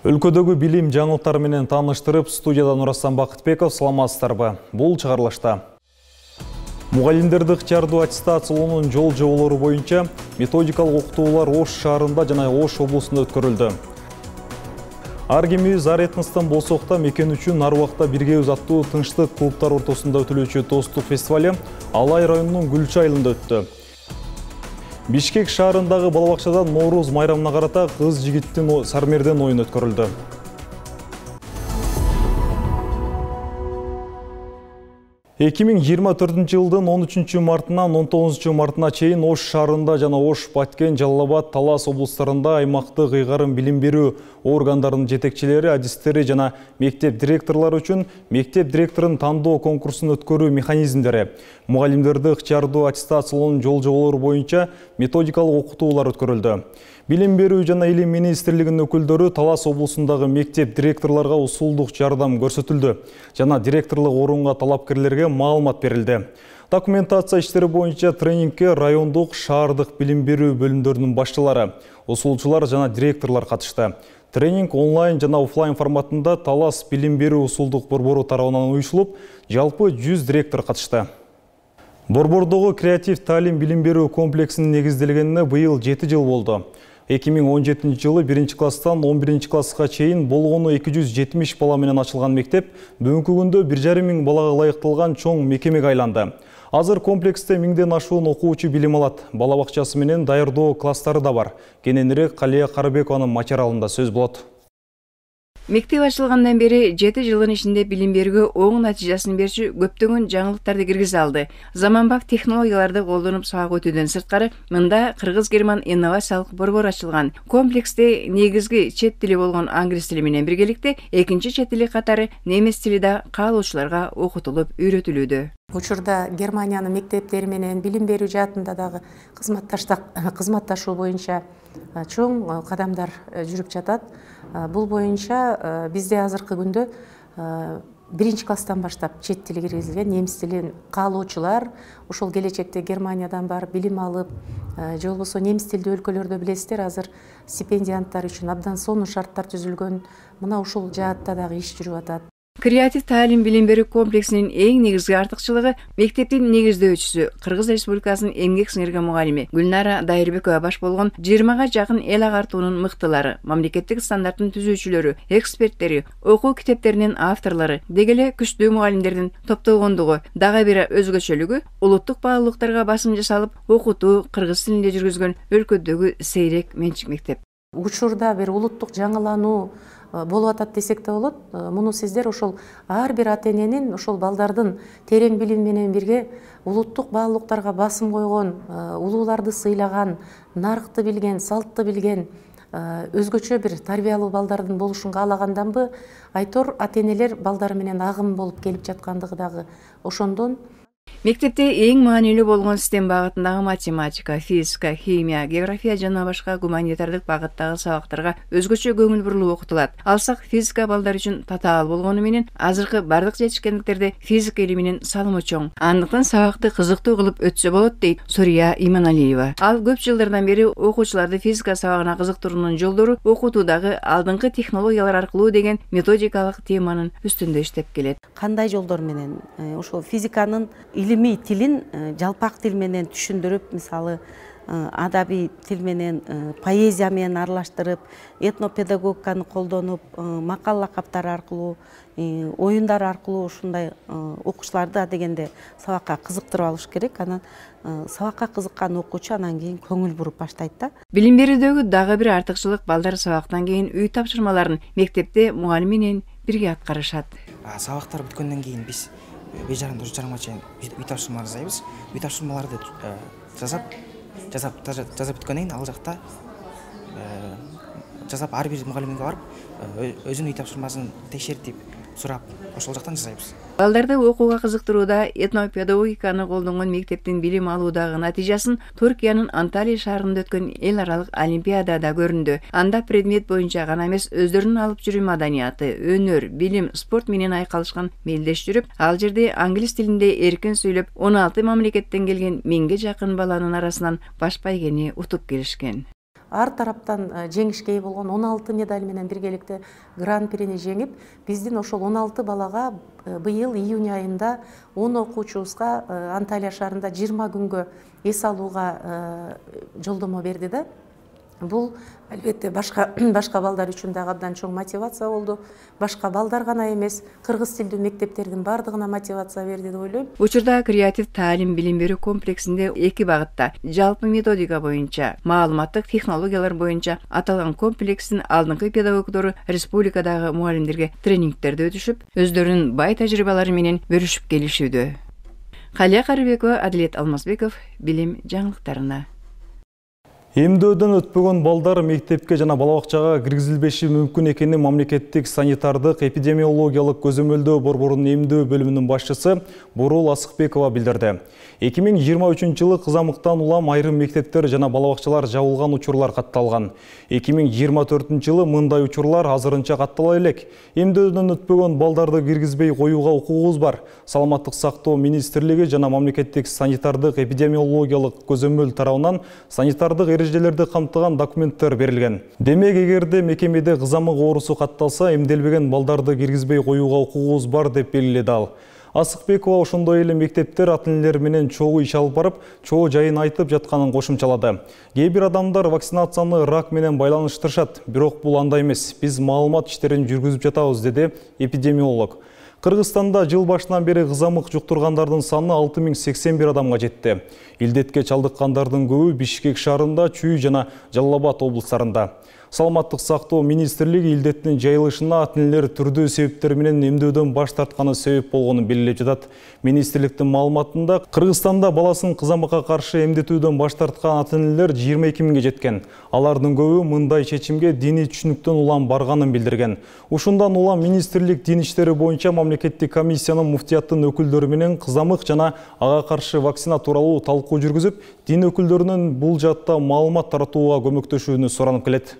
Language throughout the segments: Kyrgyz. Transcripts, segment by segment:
Өлкөдөгү билим жаңылыктары менен тааныштырып, студияда Нурасан Бакытбеков, саламатсыздарбы. Бул чыгарылышта. Мугалимдерди ыктыярдуу аттестациялоонун жол жоболору боюнча методикалык окутуулар Ош шаарында жана Ош облусунда өткөрүлдү. Ар кимибиз ар этностон болсок да мекен үчүн ар убакта биргебиз аттуу тынчтык клубтар ортосунда өтүлүүчү достук фестивале Алай районунун Гүлчү айылында өттү. Бишкек шаарындагы балабакчада Нооруз майрамына карата кыз-жигиттин сармерден оюн өткөрүлдү. 2024 жылдын 13 мартынан 19 мартына чейин Ош шаарында жана Ош, Баткен, Жалал Абад, Талас облустарында аймактык ыйгарым билим берүү органдарынын жетекчилери, адистери жана мектеп директорлору үчүн мектеп директорун тандоо конкурсун өткөрүү механизмдери, мугалимдерди ыктыярдуу аттестациялоонун жол жоболору боюнча методикалык окутуулар өткөрүлдү. Билим берүү жана илим министрлигинин өкүлдөрү Талас облусундагы мектеп директорлорго усулдук жардам көрсөтүлдү жана директорлук орунга талапкерлерге маалымат берилди. Документация иштери боюнча тренингке райондук, шаардык билим берүү бөлүмдөрүнүн башчылары, усулчулар жана директорлор катышты. Тренинг онлайн жана офлайн форматында Талас билим берүү усулдук борбору тарабынан уюшулуп, жалпы 100 директор катышты. Борбордогу креатив таалим билим берүү комплексинин негизделгенине быйыл 7 жыл болду. 2017 жылы 1 класстан 11 класска чейин болгону 270 бала менен ачылган мектеп бүгүнкү күндө 1,5 миң балага ылайыкталган чоң мекемеге айланды. Азыр комплексте 1000ден ашуун окуучу билим алат. Балабакчасы менен даярдоо класстары да бар. Кененирээк Калия Карыбекованын материалында сөз болот. Мектеп ачылгандан бери 7 жылдын ичинде билим берүүгө оң натыйжасын берчү көптөгөн жаңылыктарды киргизе алды. Заманбап технологияларды колдонуп сабак өтүүдөн сырткары, мында кыргыз-герман инновациялык борбор ачылган. Комплексте негизги чет тили болгон англис тили менен биргеликте экинчи чет тили катары немис тили да каалоочуларга окутулуп үйрөтүлүүдө. Учурда Германиянын мектептери менен билим берүү жаатында дагы кызматташуу боюнча чоң кадамдар жүрүп жатат. Бул боюнча бизде азыркы күндө 1 класстан баштап чет тили киргизилген, немис тилин каалоочулар ошол келечекте Германиядан барып билим алып, же болбосо немис тилдүү өлкөлөрдө билесиздер, азыр стипендианттар үчүн абдан сонун шарттар түзүлгөн. Мына ушул жаатта дагы иш жүрүп атат. Креатив таалим билим берүү комплексинин эң негизги артыкчылыгы мектептин негиздөөчүсү, Кыргыз Республикасынын эмгек сиңирген мугалими Гүлнара Дайырбекова баш болгон 20га жакын эл агартуунун мыктылары, мамлекеттик стандарттын түзүүчүлөрү, эксперттери, окуу китептеринин авторлору, деги эле күчтүү мугалимдердин топтолгондугу, дагы бир өзгөчөлүгү улуттук баалуулуктарга басым жасалып, окутуу кыргыз тилинде жүргүзгөн өлкөдөгү сейрек менчик мектеп. Учурда бир улуттук жаңылануу болуп атат десек да болот. Муну сиздер ошол ар бир ата эненин ошол балдардын терең билим менен бирге улуттук баалуулуктарга басым койгон, улууларды сыйлаган, нарыкты билген, салтты билген, өзгөчө бир тарбиялуу балдардын болушун каалаганданбы, айтор ата энелер балдары менен агым болуп келип жаткандыгы дагы ошондон. Мектепте эң маанилүү болгон систем багытындагы математика, физика, химия, география жана башка гуманитардык багыттагы сабактарга өзгөчө көңүл бурулуп окутулат. Алсак физика балдар үчүн татаал болгону менен азыркы бардык жетишкендиктерде физика илиминин салымы чоң. Андыктан сабакты кызыктуу кылып өтсө болот дейт Сурия Иманалиева. Ал көп жылдардан бери окуучуларды физика сабагына кызыктыруунун жолдору окутуудагы алдыңкы технологиялар аркылуу деген методикалык теманын үстүндө иштеп келет. Кандай жолдор менен ошол физиканын илимий тилин жалпак тил менен түшүндүрүп, мисалы адабий тил менен, поэзия менен аралаштырып, этнопедагогиканы колдонуп, макал лакаптар аркылуу, оюндар аркылуу ушундай окуучуларды дегенде сабакка кызыктырып алыш керек. Анан сабакка кызыккан окуучу анан кийин көңүл буруп баштайт да. Билим берүүдөгү дагы бир артыкчылык балдар сабактан кийин үй тапшырмаларын мектепте мугалим менен бирге аткарышат. Сабактар бүткөндөн кийин биз 5:30-4:30 чейин үй тапшырма жасайбыз. Үй тапшырмаларды жазап бүткөндөн кийин ал жакта жазап ар бир мугалимге барып өзүнүн үй тапшырмасын текшертип сурап ошол жактан жасайбыз. Балдарды окууга кызыктырууда этнопедагогиканы колдонгон мектептин билим алуудагы натыйжасын Туркиянын Анталия шаарында өткөн эл аралык олимпиадада көрүндү. Анда предмет боюнча гана эмес, өздөрүнүн алып жүрүү маданияты, өнөр, билим, спорт менен айкалышкан мелдеш жүрүп, ал жерде англис тилинде эркин сүйлөп, 16 мамлекеттен келген 1000ге жакын баланын арасынан баш байгени утуп келишкен. ар тараптан жеңишке ээ болгон 16 медаль менен биргеликте гран-прини жеңип, биздин ошол 16 балага быйыл июнь айында 10 окуучубузга Анталия шаарында 20 күнгө эс алууга жолдомо берди да. Бул албетте башка балдар үчүн дагы абдан чоң мотивация болду. Башка балдар гана эмес, кыргыз тилдүү мектептердин бардыгына мотивация берди деп ойлойм. Учурда креатив таалим билим берүү комплексинде 2 багытта жалпы методика боюнча, маалыматтык технологиялар боюнча аталган комплекстин алдыңкы педагогдору республикадагы мугалимдерге тренингтерди өтүшүп, өздөрүнүн бай тажрыйбалары менен бөлүшүп келишүүдө. Калия Карыбекова, Адилет Алмазбеков, билим жаңылыктарына. Эмдөөдөн өтпөгөн балдар мектепке жана балабакчага киргизилбеши мүмкүн экенин мамлекеттик санитардык эпидемиологиялык көзөмөлдөө борборунун эмдөө бөлүмүнүн башчысы Бурул Асыкбекова билдирди. 2023-жылы кызамыктан улам айрым мектептер жана балабакчалар жабылган учурлар катталган. 2024-жылы мындай учурлар азырынча каттала элек. Эмдөөдөн өтпөгөн балдарды киргизбей коюуга укугубуз бар. Саламаттык сактоо министрлиги жана мамлекеттик санитардык эпидемиологиялык көзөмөл тарабынан санитардык эрежелерди камтыган документтер берилген. Демек, эгерде мекемеде кызамык оорусу катталса, эмделбеген балдарды киргизбей коюуга укугубуз бар деп белгиледи ал. Асыкбекова ошондой эле мектептер ата-энелер менен чогуу иш алып барып, чоо жайын айтып жатканын кошумчалады. Кээ бир адамдар вакцинацияны рак менен байланыштырышат, бирок бул андай эмес. Биз маалымат иштерин жүргүзүп жатабыз, деди эпидемиолог. Кыргызстанда жыл башынан бери кызамык жуктургандардын саны 6081 адамга жетти. Илдетке чалдыккандардын көбү Бишкек шаарында, Чүй жана Жалал Абад облустарында. Саламаттык сактоо министрлиги илдеттин жайылышына ата-энелер түрдүү себептер менен эмдөөдөн баш тартканы себеп болгонун белгилеп жатат. Министрликтин маалыматында Кыргызстанда баласын кызамыкка каршы эмдетүүдөн баш тарткан ата-энелер 22 миңге жеткен. Алардын көбү мындай чечимге диний түшүнүктөн улам барганын билдирген. Ушундан улам министрлик дин иштери боюнча мамлекеттик комиссиянын муфтияттын өкүлдөрү менен кызамык жана ага каршы вакцина тууралуу талкуу жүргүзүп, дин өкүлдөрүнүн бул жаатта маалымат таратууга көмөктөшүүнү суранып келет.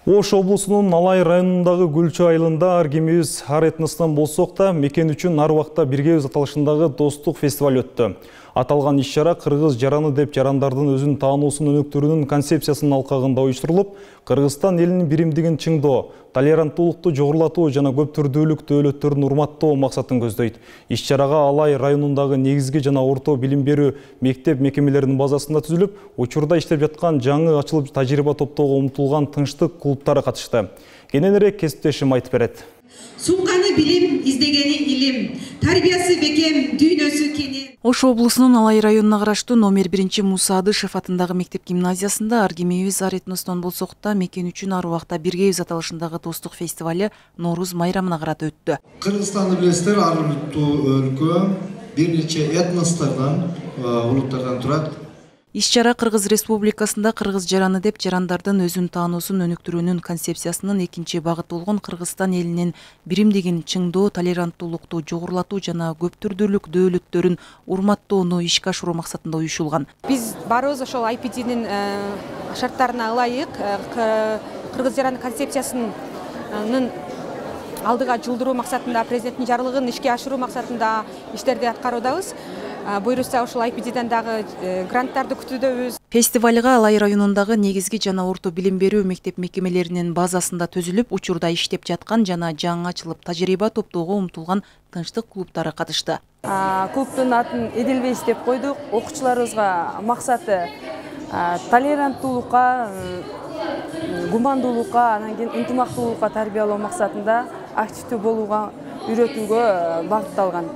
Ош облусунун Алай районундагы Гүлчү айылында ар кимибиз ар этностон болсок да, мекен үчүн ар убакта биргебиз аталышындагы достук фестиваль өттү. Аталган иш-чара кыргыз жараны деп жарандардын өзүн таануусун өнүктүрүүнүн концепциясынын алкагында уюштурулуп, Кыргызстан элинин биримдигин чыңдоо, толеранттуулукту жогорулатуу жана көп түрдүүлүк дөөлөттөрүн урматтоо максатын көздөйт. Иш-чарага Алай районундагы негизги жана орто билим берүү мектеп мекемелеринин базасында түзүлүп, учурда иштеп жаткан жаңы ачылып тажрыйба топтоого умтулган тынчтык клубтары катышты. Кененирээк кесиптешим айтып берет. Сумканы билим, издегени илим, тарбиясы бекем, дүйнөсү кенен. Ош облусунун Алай районуна караштуу номер 1 Муса Адышев атындагы мектеп гимназиясында ар кимибиз ар этностон болсок да, мекен үчүн ар убакта биргебиз аталышындагы достук фестиваль Нооруз майрамына карата өттү. Кыргызстанды билесиздер, ар улуттуу өлкө, бир нече этностордон, улуттардан турат. Иш-чара Кыргыз Республикасында кыргыз жараны деп жарандардын өзүн таануусун өнүктүрүүнүн концепциясынын экинчи багыты болгон Кыргызстан элинин биримдигин чыңдоо, толеранттуулукту жогорулатуу жана көп түрдүүлүк дөөлөттөрүн урматтоону ишке ашыруу максатында уюшулган. Биз барыбыз ошол IPD'нин шарттарына ылайык кыргыз жараны концепциясынын алдыга жылдыруу максатында, президенттин жарлыгын ишке ашыруу максатында иштерди аткаруудабыз. Буйруса ошол IPD'ден дагы гранттарды күтүүдөбүз. Фестивалга Алай районундагы негизги жана орто билим берүү мектеп мекемелеринин базасында түзүлүп, учурда иштеп жаткан жана жаңы ачылып тажрыйба топтоого умтулган тынчтык клубтары катышты. Клубдун атын Эделбейс деп койдук. Окуучуларыбызга максаты толеранттуулукка, гумандуулукка, анан кийин ынтымактуулукка тарбиялоо максатында активдүү болууга үйрөтүүгө багытталган.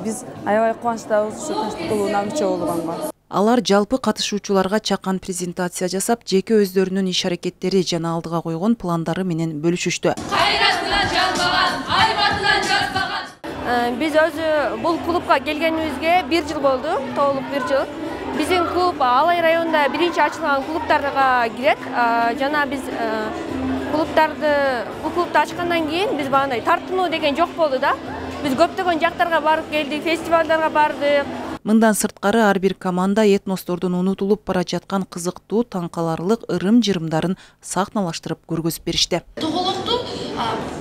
Биз аябай кубанычтабыз ушу тынчтык клубуна мүчө болгонго. Алар жалпы катышуучуларга чакан презентация жасап, жеке өздөрүнүн иш-аракеттери жана алдыга койгон пландары менен бөлүшүштү. Кайратынан жалбаган, айбатынан жазбаган. Биз өзү бул клубка келгенибизге 1 жыл болду, толук 1 жыл. Биздин клуб Алай районунда биринчи ачылган клубтарга кирет. Жана биз бул клубду ачкандан кийин биз багындай тартынуу деген жок болду да. Биз көптөгөн жактарга барып келдик, фестивалдарга бардык. Мындан сырткары ар бир команда этностордун унутулуп бара жаткан кызыктуу, таң каларлык ырым-жырымдарын сахналаштырып көргөзүп беришти. Тоголокту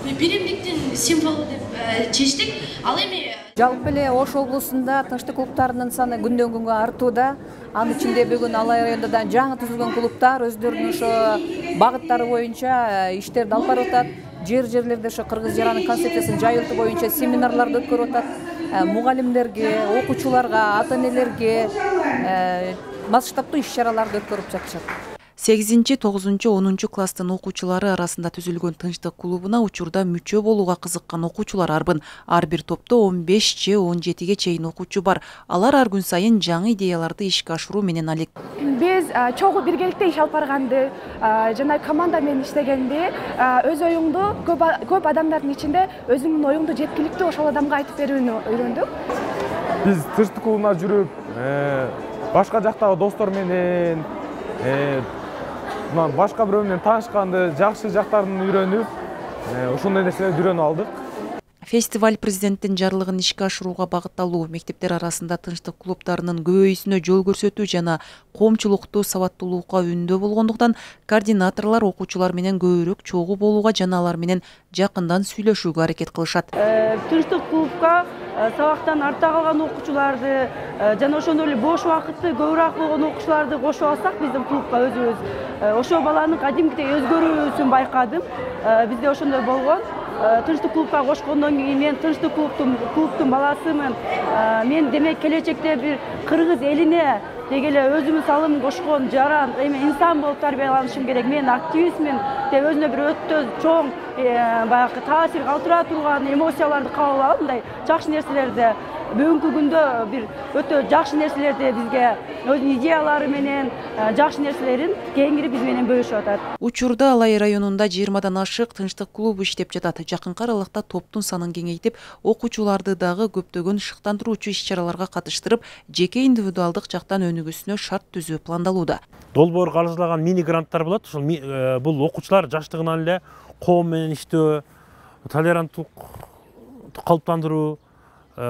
биримдиктин символу деп чечтик. Ал эми Жалпы эле Ош облусунда тынчтык клубтарынын саны күндөн күнгө артууда. Анын ичинде бүгүн Алай районунда жаңы түзүлгөн клубтар өздөрүнүн ошо багыттары боюнча иштерди алып барып атат. Жерлерде ошо кыргыз жаранын концепциясын жайылтуу боюнча семинарларды өткөрүп атат. Мугалимдерге, окуучуларга, ата энелерге масштабтуу иш-чараларды өткөрүп жатышат. 8-9-10 класстын окуучулары арасында түзүлгөн тынчтык клубуна учурда мүчө болууга кызыккан окуучулар арбын. Ар бир топто 15-17 чейин окуучу бар. Алар ар күн сайын жаңы идеяларды ишке ашыруу менен алек. Биз чогуу биргеликте иш алып барганды, жана команда менен иштегенди, өз оюңду көп адамдардын ичинде өзүңдүн оюңду жеткиликтүү ошол адамга айтып берүүнү өйрөндүк. Биз тынчтык клубуна жүрүп, башка жактагы достор менен башка бирөө менен таанышканды, жакшы жактарын үйрөнүп, ошондой нерселерди үйрөнүп алдык. Фестиваль президенттин жарлыгын ишке ашырууга багытталуу, мектептер арасында тынчтык клубтарынын көбөйүүсүнө жол көрсөтүү жана коомчулукту сабаттуулукка үндөө болгондуктан координаторлор окуучулар менен көбүрөөк чогуу болууга жана алар менен жакындан сүйлөшүүгө аракет кылышат. Тынчтык клубка сабактан артта калган окуучуларды жана ошондой эле бош убакыты көбүрөөк болгон окуучуларды кошуп алсак биздин клубка өзүбүз ошол баланын кадимкидей өзгөрүүсүн байкадым. Бизде ошондой болгон. Тынчтык клубка кошкондон кийин мен тынчтык клубтун баласымын. Мен демек келечекте бир кыргыз элине деги эле өзүмдүн салымын кошкон жаран инсан болуп тарбияланышым керек. Мен активистмин деп өзүнө бир өтө чоң баягы таасир калтыра турган эмоцияларды кабыл алып, мындай жакшы нерселерди бүгүнкү күндө бир өтө жакшы нерселерди бизге өзүнүн идеялары менен жакшы нерселерин кеңири биз менен бөлүшүп атат. Учурда Алай районунда 20дан ашык тынчтык клубу иштеп жатат. Жакынкы аралыкта топтун санын кеңейтип, окуучуларды дагы көптөгөн шыктандыруучу иш-чараларга катыштырып, жеке индивидуалдык жактан өнүгүүсүнө шарт түзүү пландалууда. Долбоор каржылаган мини гранттар болот. Ошол бул окуучулар жаштыгынан эле коом менен иштөө, толеранттуулук калыптандыруу,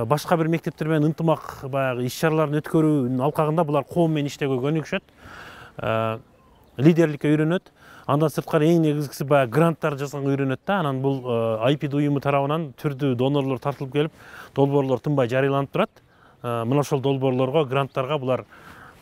башка бир мектептер менен ынтымак баягы иш-чараларын өткөрүүнүн алкагында булар коом менен иштөөгө көнүгүшөт, лидерликке үйрөнөт. Андан сырткары эң негизгиси баягы гранттар жасаганга үйрөнөт да. Анан бул IPD уюму тарабынан түрдүү донорлор тартылып келип, долбоорлор тынбай жарыяланып турат. Мына ошол долбоорлорго, гранттарга булар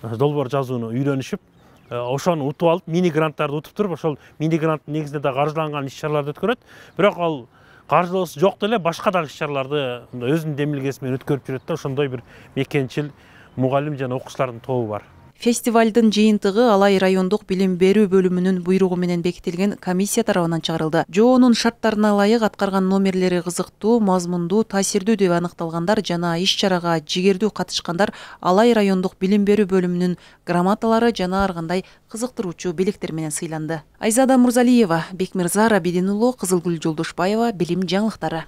долбоор жазууну үйрөнүшүп, ошону утуп алып, мини гранттарды утуп туруп, ошол мини гранттын негизинде да каржыланган иш-чараларды өткөрөт. Бирок ал каржылоосу жок деле башка дагы иш-чараларды өзүнүн демилгеси менен өткөрүп жүрөт да. Ошондой бир мекенчил мугалим жана окуучулардын тобу бар. Фестивалдын жыйынтыгы Алай райондук билим берүү бөлүмүнүн буйругу менен бекитилген комиссия тарабынан чыгарылды. жоонун шарттарына ылайык аткарган номерлери кызыктуу, мазмундуу, таасирдүү деп аныкталгандар жана иш-чарага жигердүү катышкандар Алай райондук билим берүү бөлүмүнүн грамоталары жана ар кандай кызыктыруучу белектер менен сыйланды. Айзада Мурзалиева, Бекмирза Рабидин уулу, Кызылгүл Жолдошбаева, билим жаңылыктары.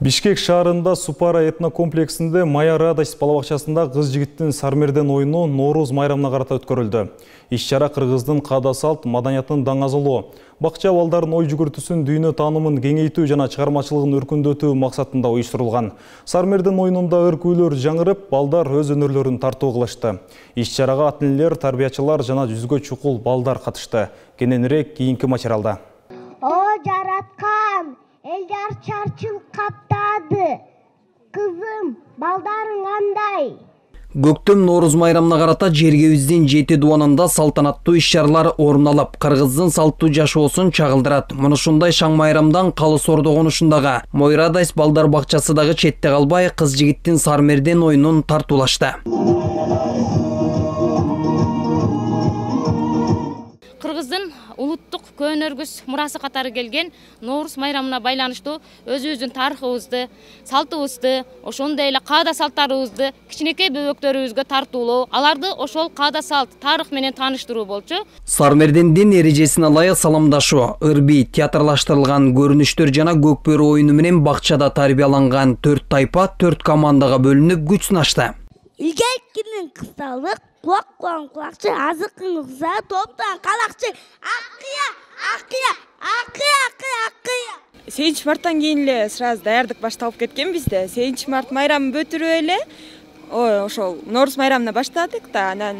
Бишкек шаарында Супара этнокомплексинде Мая Радость балабакчасында кыз-жигиттин сармерден оюну Норуз майрамына карата өткөрүлдү. Иш-чара кыргыздын каада салт маданиятын даңазалоо, бакча балдардын ой жүгүртүүсүн, дүйнө таанымын кеңейтүү жана чыгармачылыгын өркүндөтүү максатында уюштурулган. Сармердин оюнунда ыр-күүлөр жаңырып, балдар өз өнөрлөрүн тартуу кылышты. Иш-чарага ата-энелер, тарбиячылар жана 100гө чукул балдар катышты. Кененирээк кийинки материалда. О жараткан, элдер чарчылык каптады. Кызым, балдарың кандай? Көктөм Норуз майрамына карата жергебиздин 7 дуанында салтанаттуу иш-чаралар орун алып, кыргыздын салттуу жашоосун чагылдырат. Мына ушундай шаң майрамдан Калыс Ордо конушундагы Мой Радость балдар бакчасы дагы четте калбай, кыз-жигиттин сармерден оюнун тартуулашты. Кыргыздын улуттук көөнөргүс мурасы катары келген Норуз майрамына байланыштуу өзүбүздүн тарыхыбызды, салтыбызды, ошондой эле каада салттарыбызды кичинекей бөбөктөрүбүзгө тартуулоо, аларды ошол каада салт, тарых менен тааныштыруу болчу. Сармердендин эрежесине ылайык саламдашуу, ырби, театрлаштырылган көрүнүштөр жана көкбөрү оюну менен бакчада тарбияланган 4 тайпа 4 командага бөлүнүп күч сынашты. Илгеркинин кысталык, кулак-кулан кулакчы, азыкыңызга топтан калакчы, акыя. 8 марттан кийин эле сразу даярдык башталып кеткен бизде. 8 март майрамын бөтүрүп эле, ошол Норуз майрамына баштадык да, анан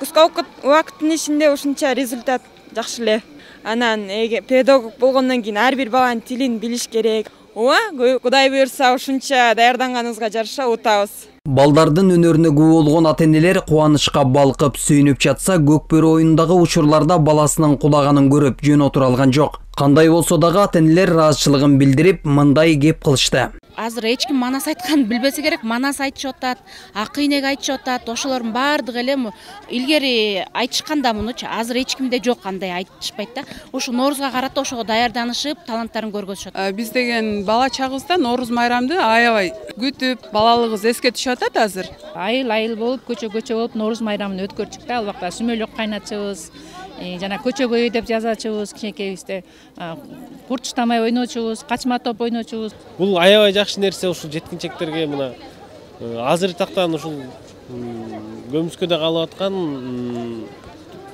кыска убакыттын ичинде ушунча результат жакшы эле. анан педагог болгондон кийин ар бир баланын тилин билиш керек. Ооба, Кудай буйрса ушунча даярданганыбызга жараша утабыз. Балдардын өнөрүнө күбө болгон ата-энелер кубанычка балкып сүйүнүп жатса, Көкбөрү оюнундагы учурларда баласынын кулаганын көрүп жөн отура алган жок. Кандай болсо дагы ата-энелер ыраазычылыгын билдирип, мындай кеп кылышты. Азыр эч ким манас айтканын билбесе керек, манас айтышып атат, акыйнек айтышып атат, ошолордун баардыгы эле илгери айтышканда мунучу, азыр эч кимде жок андай айтышпайт да. Ошо Ноорузга карата ошого даярданышып, таланттарын көргөзүшөт. Биз деген бала чагыбызда Нооруз майрамды аябай күтүп, балалыгыбыз эске түшүп атат азыр. Айыл болуп, көчө болуп Нооруз майрамын өткөрчүк да, ал убакта сүмөлөк кайнатчыбыз. Жана көчө көйү деп жазачыбыз, кичинекейибизде курт уштамай ойночубуз, качма топ ойночубуз. Бул аябай жакшы нерсе, ушул жеткинчектерге мына азыр тактан ушул көмүскөдө калып аткан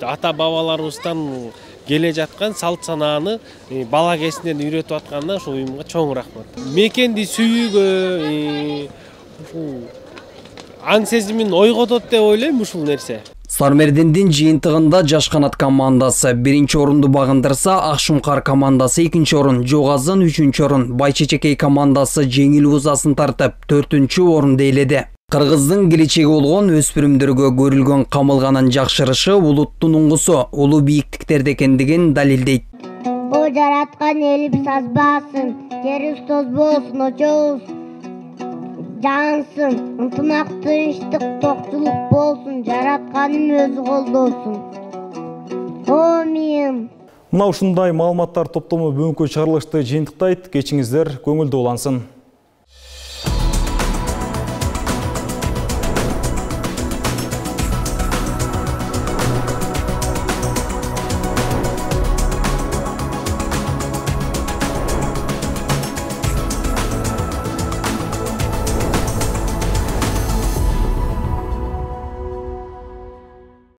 ата бабаларыбыздан келе жаткан салт санааны бала кезинен үйрөтүп атканына ушул уюмга чоң рахмат. Мекенди сүйүүгө, аң сезимин ойготот деп ойлойм ушул нерсе. Сармердиндин жыйынтыгында Жаш канат командасы 1-чи орунду багындырса, Акшумкар командасы 2-чи орун, Жогазын 3-чү орун, Байчечекей командасы жеңил узасын тартып 4-чү орунду ээледи. Кыргыздын келечеги болгон өспүрүмдөргө көрүлгөн камылганын жакшырышы улуттун уңгусу, улуу бийиктиктерде экендигин далилдейт. О жараткан элибиз азбасын, жерибиз тоз болсун, очобуз жансын, ынтымак, тынчтык, токчулук болсун, жаратканым өзү колдосун. Амин. Мына ушундай маалыматтар топтому бүгүнкү чыгарылышты жыйынтыктайт. Кечиңиздер көңүлдүү улансын.